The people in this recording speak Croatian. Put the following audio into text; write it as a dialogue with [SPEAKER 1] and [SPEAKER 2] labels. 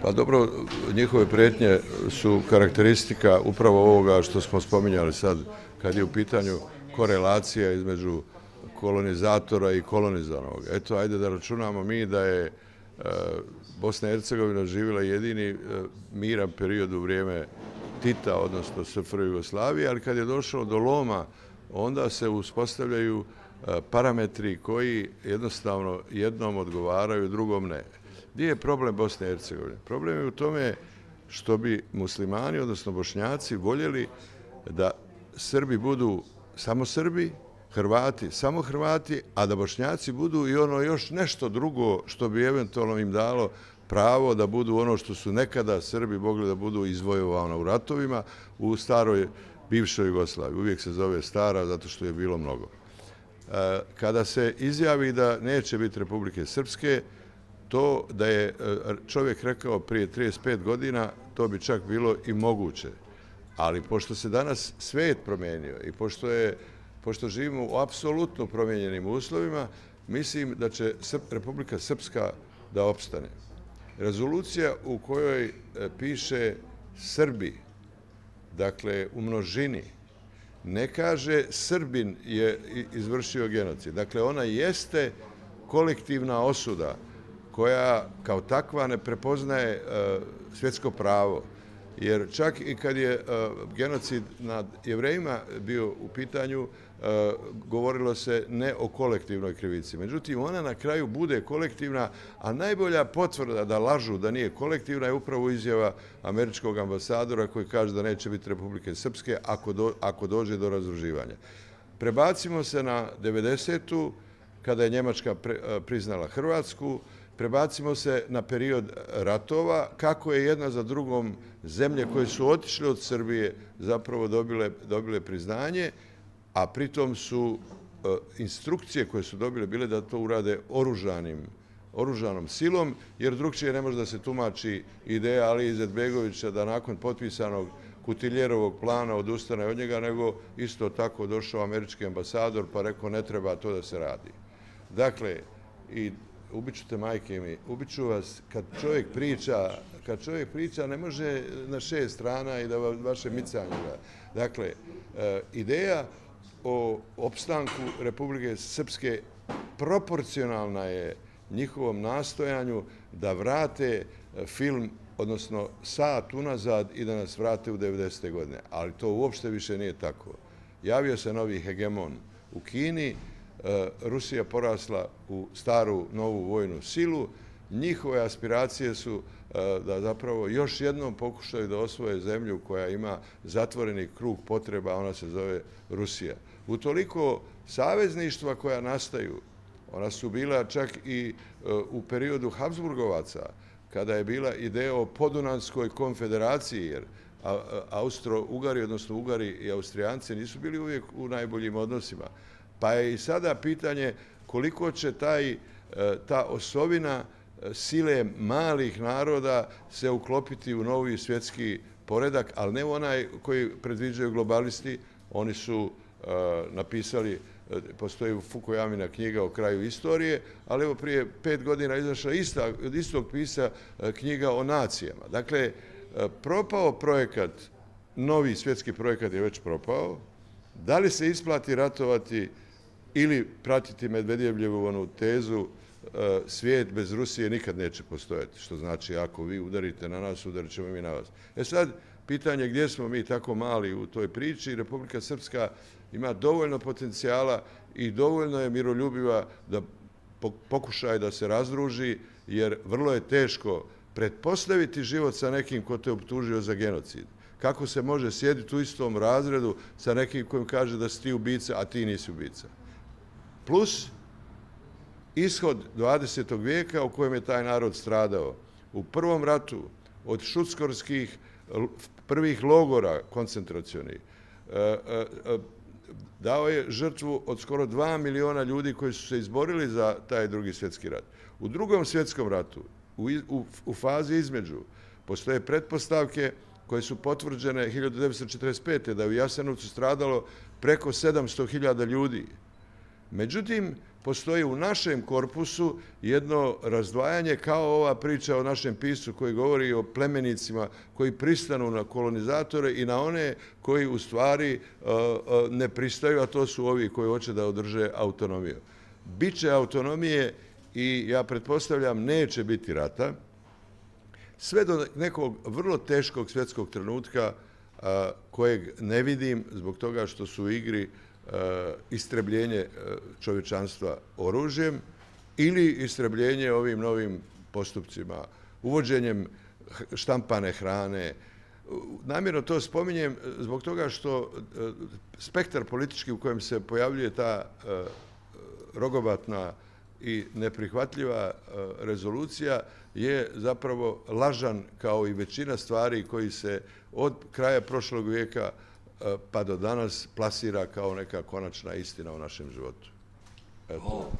[SPEAKER 1] Pa dobro, njihove prijetnje su karakteristika upravo ovoga što smo spominjali sad, kad je u pitanju korelacija između kolonizatora i kolonizovanog. Eto, ajde da računamo mi da je Bosna i Hercegovina živjela jedini miran period u vrijeme Tita, odnosno SFRJ Jugoslavije, ali kad je došlo do loma, onda se uspostavljaju parametri koji jednostavno jednom odgovaraju, drugom ne. Gdje je problem Bosne i Hercegovine? Problem je u tome što bi muslimani, odnosno Bošnjaci, voljeli da Srbi budu samo Srbi, Hrvati samo Hrvati, a da Bošnjaci budu i ono još nešto drugo što bi eventualno im dalo pravo da budu ono što su nekada Srbi mogli da budu izvojovani u ratovima u staroj bivšoj Jugoslaviji. Uvijek se zove stara zato što je bilo mnogo. Kada se izjavi da neće biti Republike Srpske, to da je čovjek rekao prije 35 godina, to bi čak bilo i moguće. Ali pošto se danas svijet promijenio i pošto živimo u apsolutno promijenjenim uslovima, mislim da će Republika Srpska da opstane. Rezolucija u kojoj piše Srbi, dakle u množini, ne kaže Srbin je izvršio genocid. Dakle, ona jeste kolektivna osuda koja kao takva ne prepoznaje svjetsko pravo. Jer čak i kad je genocid nad Jevrejima bio u pitanju, govorilo se ne o kolektivnoj krivici. Međutim, ona na kraju bude kolektivna, a najbolja potvrda da lažu da nije kolektivna je upravo izjava američkog ambasadora koji kaže da neće biti Republike Srpske ako dođe do razdruživanja. Prebacimo se na 90. kada je Njemačka priznala Hrvatsku, prebacimo se na period ratova, kako je jedna za drugom zemlje koje su otišle od Srbije zapravo dobile priznanje, a pritom su instrukcije koje su dobile bile da to urade oružanom silom, jer drugčije ne može da se tumači ideja Alije Izetbegovića da nakon potpisanog Kutiljerovog plana odustane od njega, nego isto tako došao američki ambasador pa rekao ne treba to da se radi. Dakle, i ubiću te majke mi, ubiću vas kad čovjek priča ne može na 6 strana i da vaše micanje. Dakle, ideja o opstanku Republike Srpske proporcionalna je njihovom nastojanju da vrate film, odnosno sat unazad i da nas vrate u 90. godine. Ali to uopšte više nije tako. Javio se novi hegemon u Kini, Rusija porasla u staru novu vojnu silu, njihove aspiracije su da zapravo još jednom pokušaju da osvoje zemlju koja ima zatvoreni krug potreba, ona se zove Rusija. Utoliko savezništva koja nastaju, ona su bila čak i u periodu Habsburgovaca, kada je bila ideja o Podunavskoj konfederaciji, jer Austro-Ugari, odnosno Ugari i Austrijanci nisu bili uvijek u najboljim odnosima. Pa je i sada pitanje koliko će ta osovina sile malih naroda se uklopiti u novi svjetski poredak, ali ne onaj koji predviđaju globalisti. Oni su napisali, postoji Fukuyamina knjiga o kraju istorije, ali evo prije 5 godina izašla od istog pisa knjiga o nacijama. Dakle, propao projekat, novi svjetski projekat je već propao. Da li se isplati ratovati ili pratiti Medvedjevljevu onu tezu svijet bez Rusije nikad neće postojati, što znači ako vi udarite na nas, udarit ćemo mi na vas. Sad, pitanje gdje smo mi tako mali u toj priči. Republika Srpska ima dovoljno potencijala i dovoljno je miroljubiva da pokušaje da se razdruži, jer vrlo je teško pretpostaviti život sa nekim ko te optužio za genocid. Kako se može sjediti u istom razredu sa nekim kojim kaže da si ti ubica, a ti nisi ubica. Plus ishod 20. vijeka u kojem je taj narod stradao. U prvom ratu od šuckorskih prvih logora koncentracionih dao je žrtvu od skoro 2 miliona ljudi koji su se izborili za taj drugi svjetski rat. U drugom svjetskom ratu, u fazi između, postoje pretpostavke koje su potvrđene 1945. da je u Jasenovcu stradalo preko 700.000 ljudi. Međutim, postoji u našem korpusu jedno razdvajanje kao ova priča o našem piscu koji govori o plemenicima koji pristanu na kolonizatore i na one koji u stvari ne pristaju, a to su ovi koji hoće da održe autonomiju. Biće autonomije i ja pretpostavljam neće biti rata, sve do nekog vrlo teškog svjetskog trenutka kojeg ne vidim zbog toga što su u igri istrebljenje čovječanstva oružjem ili istrebljenje ovim novim postupcima, uvođenjem štampane hrane. Namjerno to spominjem zbog toga što spektar politički u kojem se pojavljuje ta rogobatna i neprihvatljiva rezolucija je zapravo lažan kao i većina stvari koji se od kraja prošlog vijeka pa do danas plasira kao neka konačna istina u našem životu. Eto.